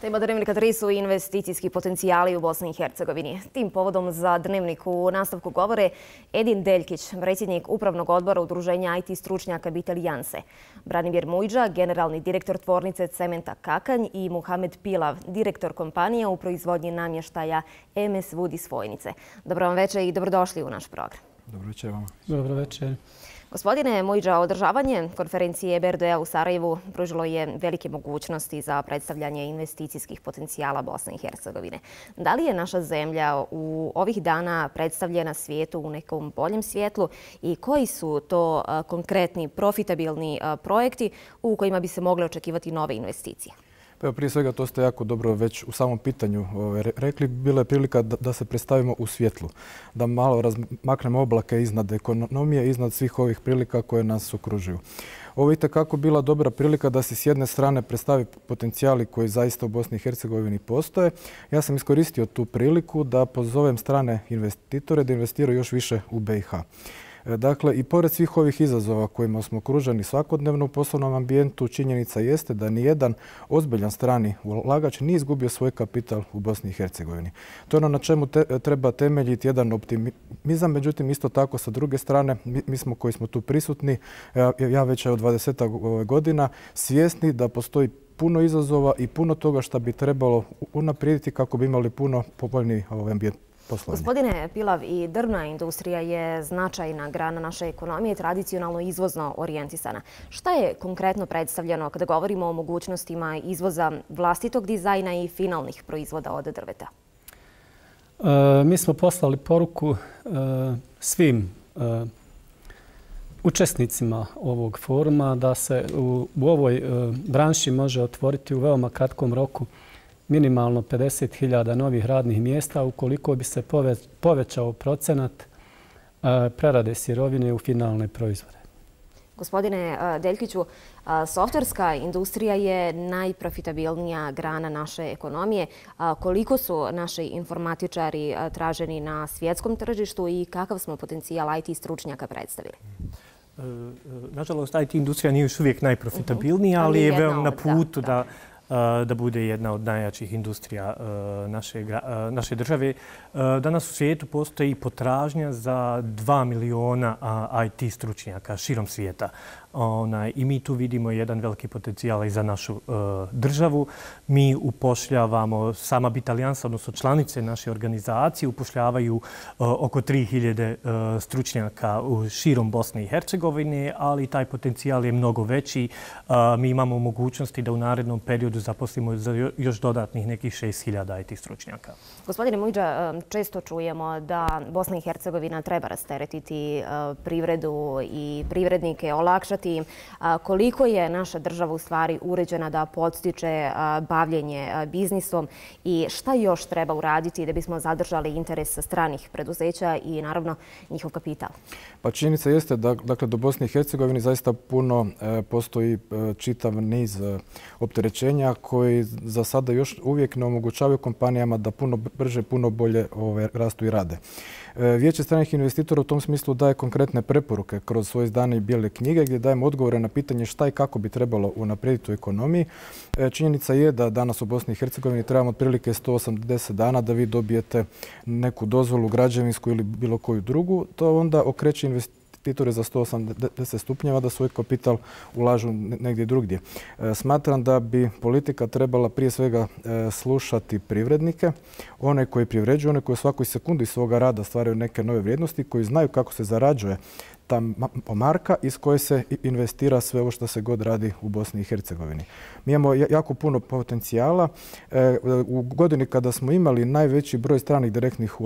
Tema Dnevnika 3 su investicijski potencijali u Bosni i Hercegovini. Tim povodom za Dnevnik u nastavku govore Edin Deljkić, predsjednik Upravnog odbora Udruženja IT stručnjaka Bitaljanse, Branimir Mujđa, generalni direktor tvornice cementa Kakanj i Muhamed Pilav, direktor kompanija u proizvodnji namještaja MS Wood iz Vojnice. Dobro vam večer i dobrodošli u naš program. Dobro večer vama. Dobro večer. Gospodine Mujđa, održavanje konferencije EBRD-a u Sarajevu pružilo je velike mogućnosti za predstavljanje investicijskih potencijala Bosne i Hercegovine. Da li je naša zemlja u ovih dana predstavljena svijetu u nekom boljem svjetlu i koji su to konkretni, profitabilni projekti u kojima bi se mogle očekivati nove investicije? Prije svega, to ste jako dobro već u samom pitanju rekli. Bila je prilika da se predstavimo u svjetlu, da malo razmaknemo oblake iznad ekonomije, iznad svih ovih prilika koje nas okružuju. Ovo je itekako bila dobra prilika da se s jedne strane predstavi potencijali koji zaista u Bosni i Hercegovini postoje. Ja sam iskoristio tu priliku da pozovem strane investitore da investiraju još više u BiH. Dakle, i pored svih ovih izazova kojima smo okruženi svakodnevno u poslovnom ambijentu, činjenica jeste da nijedan ozbiljan strani ulagač nije izgubio svoj kapital u Bosni i Hercegovini. To je ono na čemu treba temeljiti jedan optimizam, međutim isto tako sa druge strane mi smo koji smo tu prisutni, ja već od 20 godina, svjesni da postoji puno izazova i puno toga što bi trebalo unaprijediti kako bi imali puno povoljniji ambijent. Gospodine Pilav, i drvna industrija je značajna grana naše ekonomije, tradicionalno izvozno orijentisana. Šta je konkretno predstavljeno kada govorimo o mogućnostima izvoza vlastitog dizajna i finalnih proizvoda od drveta? Mi smo poslali poruku svim učesnicima ovog foruma da se u ovoj branši može otvoriti u veoma kratkom roku minimalno 50.000 novih radnih mjesta ukoliko bi se povećao procenat prerade sirovine u finalne proizvode. Gospodine Deljkiću, softverska industrija je najprofitabilnija grana naše ekonomije. Koliko su naši informatičari traženi na svjetskom tržištu i kakav smo potencijal IT stručnjaka predstavili? Nažalost, IT industrija nije još uvijek najprofitabilnija, ali je veoma na putu da bude jedna od najjačih industrija naše države. Danas u svijetu postoji potražnja za 2 miliona IT stručnjaka širom svijeta. I mi tu vidimo jedan veliki potencijal i za našu državu. Mi upošljavamo, sama Bitaljansa, odnosno članice naše organizacije, upošljavaju oko 3000 stručnjaka širom Bosne i Hercegovine, ali taj potencijal je mnogo veći. Mi imamo mogućnosti da u narednom periodu zaposlimo za još dodatnih nekih 6000 IT stručnjaka. Gospodine Mujđa, često čujemo da Bosna i Hercegovina treba rasteretiti privredu i privrednike, olakšati im. Koliko je naša država u stvari uređena da podstiče bavljenje biznisom i šta još treba uraditi da bismo zadržali interes stranih preduzeća i naravno njihov kapital? Pa činjenica jeste da do Bosne i Hercegovine zaista puno postoji čitav niz opterećenja koji za sada još uvijek ne omogućavaju kompanijama da puno brže, puno bolje rastu i rade. Vijeće stranih investitora u tom smislu daje konkretne preporuke kroz svoje izdane i bijele knjige gdje dajemo odgovore na pitanje šta i kako bi trebalo unaprijediti u ekonomiji. Činjenica je da danas u Bosni i Hercegovini trebamo otprilike 180 dana da vi dobijete neku dozvolu građevinsku ili bilo koju drugu. To onda okreće investitore za 180 stupnjeva da svoj kapital ulažu negdje drugdje. Smatram da bi politika trebala prije svega slušati privrednike, one koji privređuju, one koji u svakoj sekundi svoga rada stvaraju neke nove vrijednosti, koji znaju kako se zarađuje ta marka iz koje se investira sve ovo što se god radi u Bosni i Hercegovini. Mi imamo jako puno potencijala. U godini kada smo imali najveći broj stranih direktnih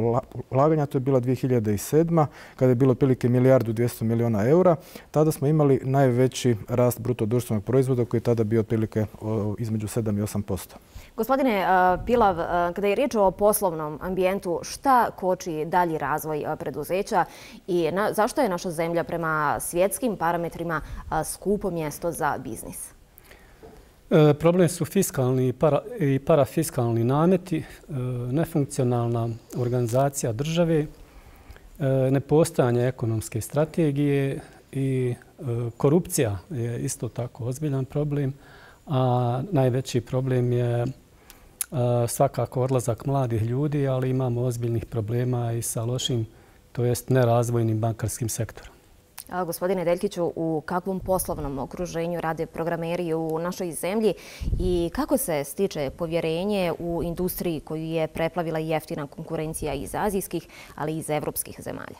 ulaganja, to je bila 2007. kada je bilo otprilike 1.200 miliona eura, tada smo imali najveći rast bruto društvenog proizvoda koji je tada bio otprilike između 7 i 8%. Gospodine Pilav, kada je riječ o poslovnom ambijentu, šta koči dalji razvoj preduzeća i zašto je naša zemlja prema svjetskim parametrima skupo mjesto za biznis? Problem su fiskalni i parafiskalni nameti, nefunkcionalna organizacija države, nepostojanje ekonomske strategije i korupcija je isto tako ozbiljan problem, a najveći problem je svakako odlazak mladih ljudi, ali imamo ozbiljnih problema i sa lošim, to jest nerazvojnim bankarskim sektorom. Gospodine Deljkiću, u kakvom poslovnom okruženju rade programeri u našoj zemlji i kako se stiče povjerenje u industriji koju je preplavila jeftina konkurencija iz azijskih, ali i iz evropskih zemalja?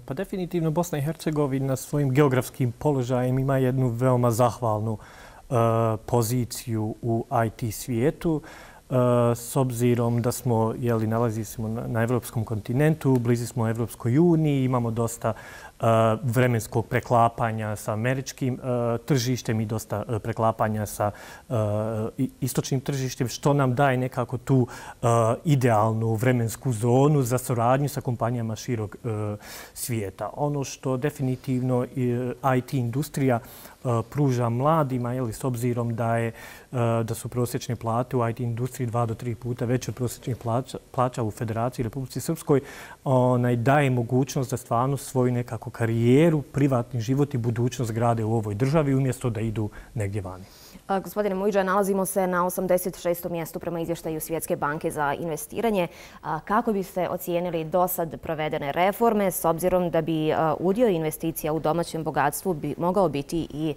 Pa definitivno Bosna i Hercegovina svojim geografskim položajem ima jednu veoma zahvalnu poziciju u IT svijetu. S obzirom da smo, nalazi se na evropskom kontinentu, blizu smo Evropskoj uniji, imamo dosta vremenskog preklapanja sa američkim tržištem i dosta preklapanja sa istočnim tržištem, što nam daje nekako tu idealnu vremensku zonu za suradnju sa kompanijama širog svijeta. Ono što definitivno IT industrija pruža mladima, s obzirom da su prosječne plate u IT industriji 2 do 3 puta veće od prosječnih plaća u Federaciji Republici Srpskoj, daje mogućnost da stvarno svoju nekako karijeru, privatni život i budućnost grade u ovoj državi umjesto da idu negdje vani. Gospodine Mujdža, nalazimo se na 86. mjestu prema izvještaju Svjetske banke za investiranje. Kako biste ocijenili do sad provedene reforme s obzirom da bi udio investicija u domaćem bogatstvu mogao biti i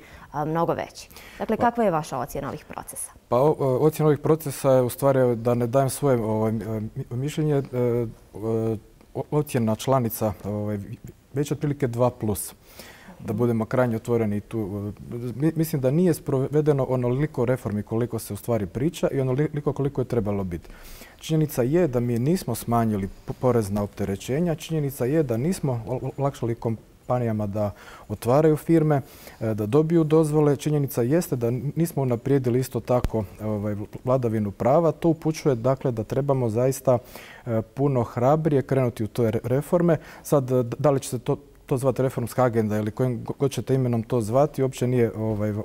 mnogo veći? Dakle, kakva je vaša ocjena ovih procesa? Pa ocjena ovih procesa je u stvari da ne dajem svoje mišljenje. Ocjena članica već otprilike 2+. Da budemo krajnje otvoreni tu. Mislim da nije sprovedeno onoliko reformi koliko se u stvari priča i onoliko koliko je trebalo biti. Činjenica je da mi nismo smanjili porezna opterećenja, činjenica je da nismo olakšali kompanijama da otvaraju firme, da dobiju dozvole. Činjenica jeste da nismo unaprijedili isto tako vladavinu prava. To upućuje dakle da trebamo zaista puno hrabrije krenuti u te reforme. Sad, da li će se to zvati reformska agenda ili kojim god ćete imenom to zvati, uopće nije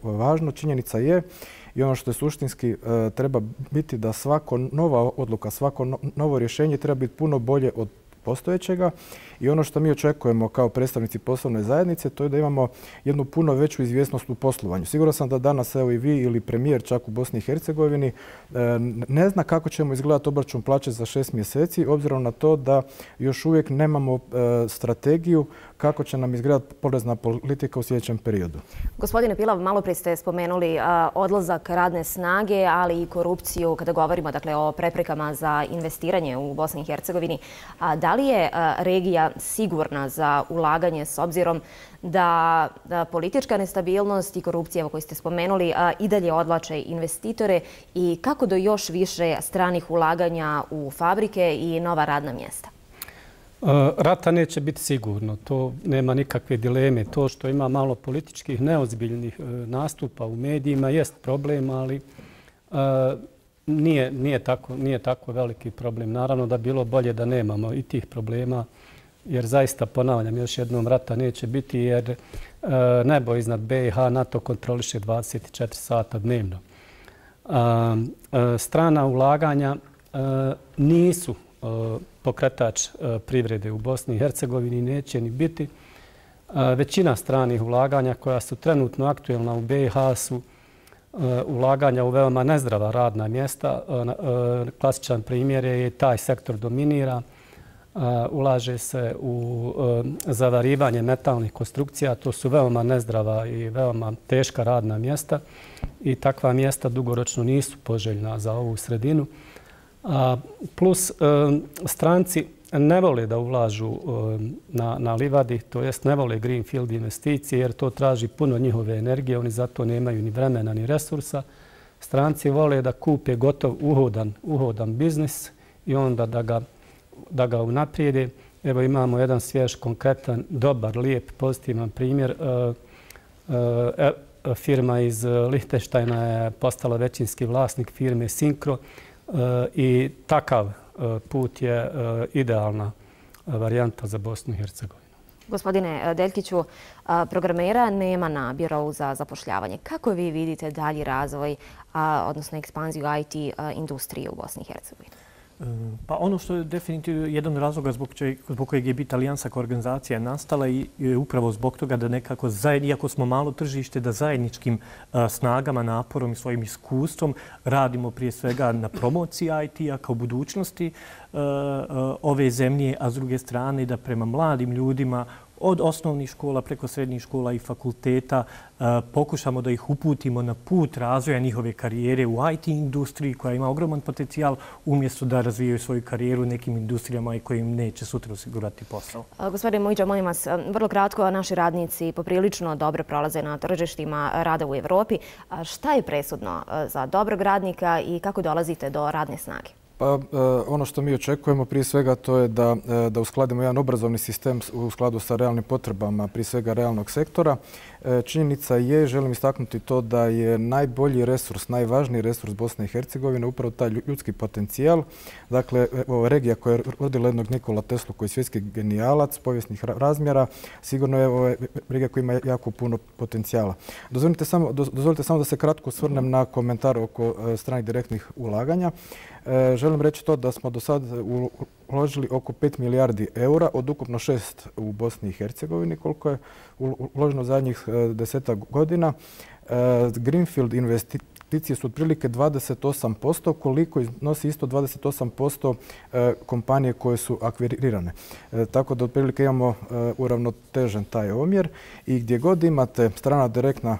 važno. Činjenica je i ono što je suštinski treba biti da svako nova odluka, svako novo rješenje treba biti puno bolje od postojećega i ono što mi očekujemo kao predstavnici poslovne zajednice to je da imamo jednu puno veću izvjesnost u poslovanju. Siguran sam da danas evo i vi ili premijer čak u Bosni i Hercegovini ne zna kako ćemo izgledati obračun plaće za 6 mjeseci obzirom na to da još uvijek nemamo strategiju kako će nam izgledati porezna politika u sljedećem periodu. Gospodine Pilav, malo prije ste spomenuli odlazak radne snage, ali i korupciju kada govorimo o preprekama za investiranje u Bosni i Hercegovini. Da li je regija sigurna za ulaganje s obzirom da politička nestabilnost i korupcija koju ste spomenuli i dalje odvlače investitore i kako do još više stranih ulaganja u fabrike i nova radna mjesta? Rata neće biti sigurno, to nema nikakve dileme. To što ima malo političkih neozbiljnih nastupa u medijima jest problem, ali nije tako veliki problem. Naravno da bilo bolje da nemamo i tih problema, jer zaista, ponavljam još jednom, rata neće biti jer nebo iznad BiH NATO kontroliše 24 sata dnevno. Strana ulaganja nisu pokretač privrede u Bosni i Hercegovini, neće ni biti. Većina stranih ulaganja koja su trenutno aktuelna u BiH su ulaganja u veoma nezdrava radna mjesta. Klasičan primjer je taj sektor dominira. Ulaže se u zavarivanje metalnih konstrukcija. To su veoma nezdrava i veoma teška radna mjesta i takva mjesta dugoročno nisu poželjna za ovu sredinu. Plus stranci ne vole da ulažu na livadi, to jest ne vole greenfield investicije jer to traži puno njihove energije, oni zato nemaju ni vremena ni resursa. Stranci vole da kupe gotov uhodan biznis i onda da ga unaprijede. Evo imamo jedan svjež, konkretan, dobar, lijep, pozitivan primjer. Firma iz Lihtenštajna je postala većinski vlasnik firme Syncro i takav put je idealna varijanta za Bosnu i Hercegovinu. Gospodine Deljkiću, programera nema na Birovu za zapošljavanje. Kako vi vidite dalji razvoj, odnosno ekspanziju IT industrije u Bosni i Hercegovini? Pa ono što je definitivno jedan od razloga zbog kojeg je BIT Alijansa kao organizacija nastala je upravo zbog toga da nekako, iako smo malo tržište, da zajedničkim snagama, naporom i svojim iskustvom radimo prije svega na promociji IT-a kao budućnosti ove zemlje, a s druge strane da prema mladim ljudima od osnovnih škola preko srednjih škola i fakulteta pokušamo da ih uputimo na put razvoja njihove karijere u IT industriji koja ima ogroman potencijal umjesto da razvijaju svoju karijeru u nekim industrijama i koji im neće sutra osigurati posao. Gospodine Mujdža, molim vas, vrlo kratko, naši radnici poprilično dobro prolaze na tržištima rada u Evropi. Šta je presudno za dobrog radnika i kako dolazite do radne snage? Pa ono što mi očekujemo prije svega to je da uskladimo jedan obrazovni sistem u skladu sa realnim potrebama, prije svega realnog sektora. Činjenica je, želim istaknuti to da je najbolji resurs, najvažniji resurs Bosne i Hercegovine upravo taj ljudski potencijal. Dakle, regija koja je rodila jednog Nikola Teslu koji je svjetski genijalac, povijesnih razmjera, sigurno je regija koja ima jako puno potencijala. Dozvolite samo da se kratko osvrnem na komentar oko stranih direktnih ulaganja. Želim reći to da smo do sad uložili oko 5 milijardi eura od ukupno 6 u Bosni i Hercegovini, koliko je uloženo zadnjih 10 godina. Greenfield investicije su otprilike 28%, koliko iznosi isto 28% kompanije koje su akvirirane. Tako da otprilike imamo uravnotežen taj omjer i gdje god imate strana direktna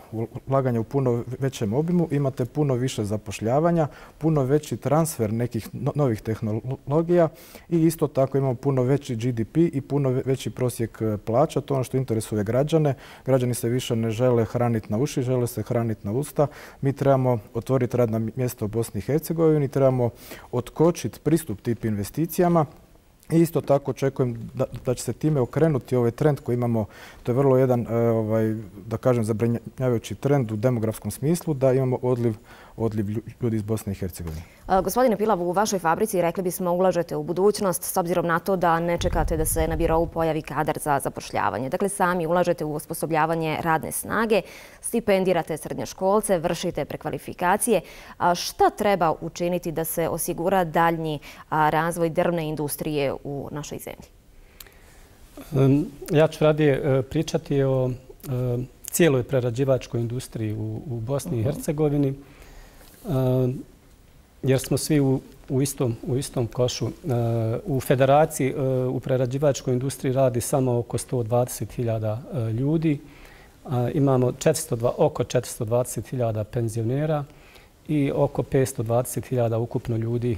ulaganja u puno većem obimu, imate puno više zapošljavanja, puno veći transfer nekih novih tehnologija i isto tako imamo puno veći GDP i puno veći prosjek plaća. To je ono što interesuje građane. Građani se više ne žele hraniti na uši, žele se hraniti na usta. Mi trebamo otvoriti radna mjesta u Bosni i Hercegovini, trebamo otkočiti pristup tip investicijama. I isto tako očekujem da će se time okrenuti ovaj trend koji imamo, to je vrlo jedan, da kažem, zabrinjavajući trend u demografskom smislu, da imamo odliv ljudi iz Bosne i Hercegovine. Gospodine Pilav, u vašoj fabrici rekli bismo ulažete u budućnost s obzirom na to da ne čekate da se na birovu pojavi kadar za zapošljavanje. Dakle, sami ulažete u osposobljavanje radne snage, stipendirate srednjoškolce, vršite prekvalifikacije. Šta treba učiniti da se osigura daljnji razvoj drvne industrije u našoj zemlji? Ja ću radije pričati o cijeloj prerađivačkoj industriji u Bosni i Hercegovini, jer smo svi u istom košu. U federaciji u prerađivačkoj industriji radi samo oko 120.000 ljudi. Imamo oko 420.000 penzionera i oko 520.000 ukupno ljudi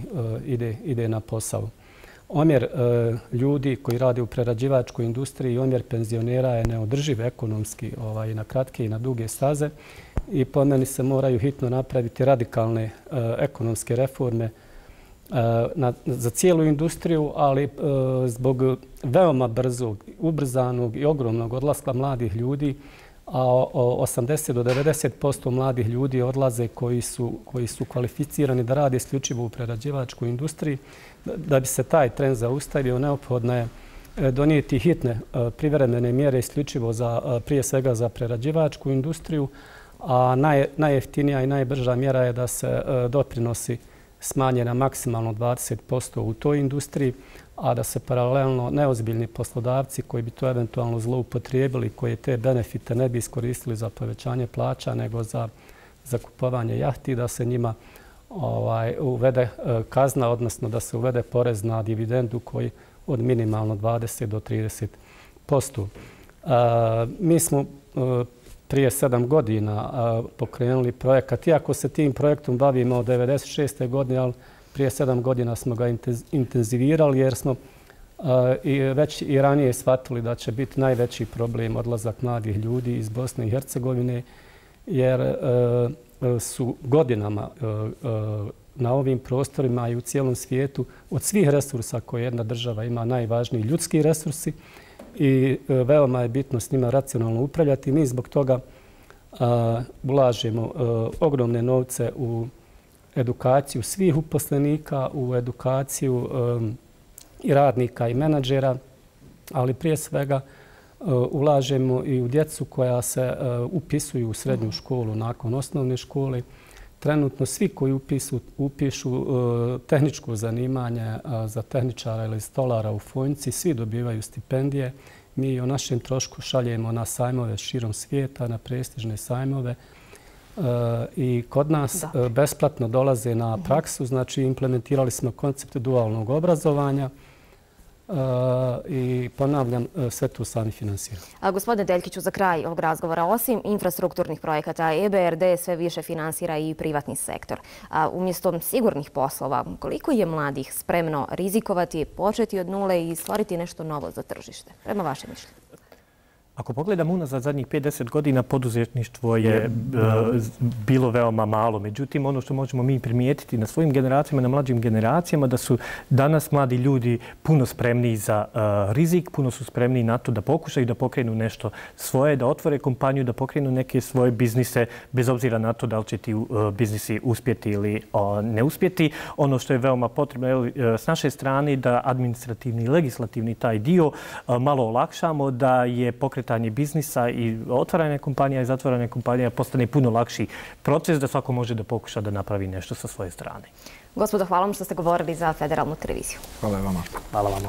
ide na posao. Omjer ljudi koji rade u prerađivačkoj industriji i omjer penzionera je neodrživ ekonomski na kratke i na duge staze i po meni se moraju hitno napraviti radikalne ekonomske reforme za cijelu industriju, ali zbog veoma brzog, ubrzanog i ogromnog odlaska mladih ljudi, a 80 do 90% mladih ljudi odlaze koji su kvalificirani da rade isključivo u prerađivačkoj industriji. Da bi se taj trend zaustavio, neophodno je donijeti hitne privremene mjere isključivo prije svega za prerađivačku industriju, a najjeftinija i najbrža mjera je da se doprinosi smanje na maksimalno 20% u toj industriji, a da se paralelno neozbiljni poslodavci koji bi to eventualno zloupotrijebili, koji te benefite ne bi iskoristili za povećanje plaća, nego za kupovanje jahti, da se njima uvede kazna, odnosno da se uvede porez na dividendu koji od minimalno 20 do 30%. Mi smo prije 7 godina pokrenuli projekat, iako se tim projektom bavimo od 1996. godine, ali prije 7 godina smo ga intenzivirali jer smo već i ranije shvatili da će biti najveći problem odlazak mladih ljudi iz Bosne i Hercegovine, jer su godinama na ovim prostorima i u cijelom svijetu od svih resursa koje jedna država ima najvažniji ljudski resursi i veoma je bitno s njima racionalno upravljati. Mi zbog toga ulažemo ogromne novce u edukaciju svih uposlenika, u edukaciju i radnika i menadžera, ali prije svega ulažemo i u djecu koja se upisuju u srednju školu nakon osnovne škole. Trenutno svi koji upišu tehničko zanimanje za tehničara ili stolara u Fojnici, svi dobivaju stipendije. Mi o našem trošku šaljemo na sajmove širom svijeta, na prestižne sajmove. I kod nas besplatno dolaze na praksu, znači implementirali smo koncept dualnog obrazovanja i ponavljam, sve to sami finansiramo. Gospodine Deljkiću, za kraj ovog razgovora, osim infrastrukturnih projekata, EBRD sve više finansira i privatni sektor. Umjesto sigurnih poslova, koliko je mladih spremno rizikovati, početi od nule i stvoriti nešto novo za tržište? Prema vašem mišljenju. Ako pogledamo unazad zadnjih 50 godina, poduzetništvo je bilo veoma malo. Međutim, ono što možemo mi primijetiti na svojim generacijama, na mlađim generacijama, da su danas mladi ljudi puno spremniji za rizik, puno su spremniji na to da pokušaju da pokrenu nešto svoje, da otvore kompaniju, da pokrenu neke svoje biznise, bez obzira na to da li će ti biznisi uspjeti ili ne uspjeti. Ono što je veoma potrebno s naše strane da administrativni i legislativni taj dio malo olakšamo, da je pokretanje biznisa i otvaranje kompanija i zatvaranje kompanija postane puno lakši proces, da svako može da pokuša da napravi nešto sa svoje strane. Gospodo, hvala vam što ste govorili za Federalnu televiziju. Hvala vama. Hvala vama.